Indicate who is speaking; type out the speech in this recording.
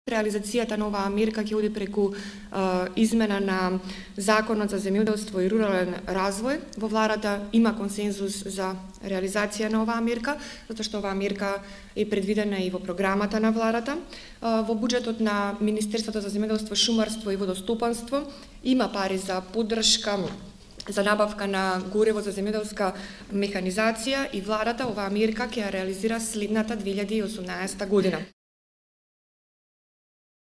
Speaker 1: Реализацијата на оваа мерка ќе оди преку измена на Законот за земјоделство и рурален развој. Во владата има консензус за реализација на оваа мерка, затоа што оваа мерка е предвидена и во програмата на владата. Во буџетот на Министерството за земјоделство, шумарство и водостопанство има пари за поддршка за набавка на гориво за земјоделска механизација и владата оваа мерка ќе ја реализира следната 2018 година.